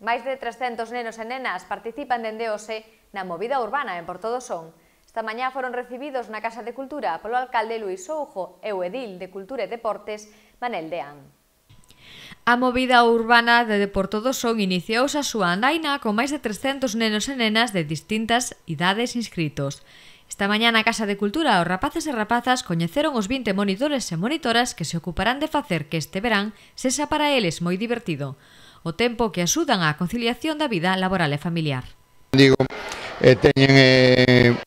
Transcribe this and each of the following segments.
Máis de 300 nenos e nenas participan dende hoxe na movida urbana en Porto do Son. Esta mañá foron recibidos na Casa de Cultura polo alcalde Luís Soujo e o edil de Cultura e Deportes, Manel Deán. A movida urbana de Porto do Son iniciouse a súa andaina con máis de 300 nenos e nenas de distintas idades inscritos. Esta mañá na Casa de Cultura os rapaces e rapazas coñeceron os 20 monitores e monitoras que se ocuparán de facer que este verán sexa para eles moi divertido, o tempo que axudan á conciliación da vida laboral e familiar. Teñen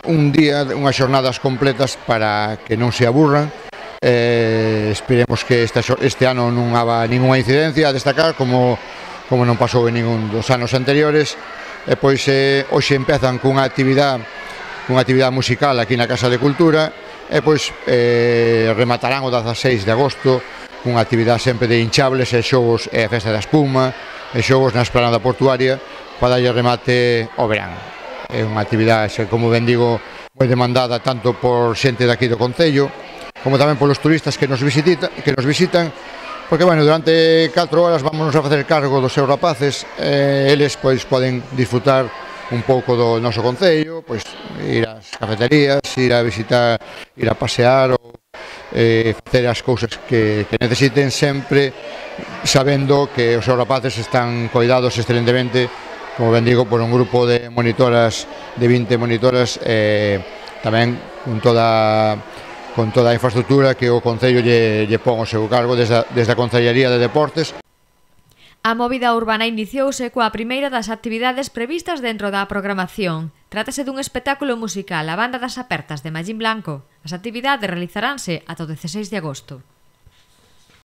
un día, unhas xornadas completas para que non se aburran. Esperemos que este ano non haga ninguna incidencia a destacar como non pasou en ningún dos anos anteriores. Pois hoxe empezan cunha actividade musical aquí na Casa de Cultura e pois rematarán o 16 de agosto cunha actividade sempre de hinchables e xogos e a festa da espuma e xogos na esplanada portuaria para darlle remate ao verán. É unha actividade, como ben digo, moi demandada tanto por xente daqui do concello como tamén polos turistas que nos visitan, porque, bueno, durante 4 horas vamos a facer cargo dos seus rapaces, eles pois poden disfrutar un pouco do noso concello, pois ir ás cafeterías, ir a visitar, ir a pasear ou facer as cousas que necesiten, sempre sabendo que os seus rapaces están coidados excelentemente, como ben digo, por un grupo de monitoras, de 20 monitoras, tamén con toda a infraestructura que o Concello lle pon ao seu cargo desde a Concellería de Deportes. A movida urbana iniciouse coa primeira das actividades previstas dentro da programación. Trátase dun espectáculo musical, a Banda das Apertas de Mallín Blanco. As actividades realizaránse ata o 16 de agosto.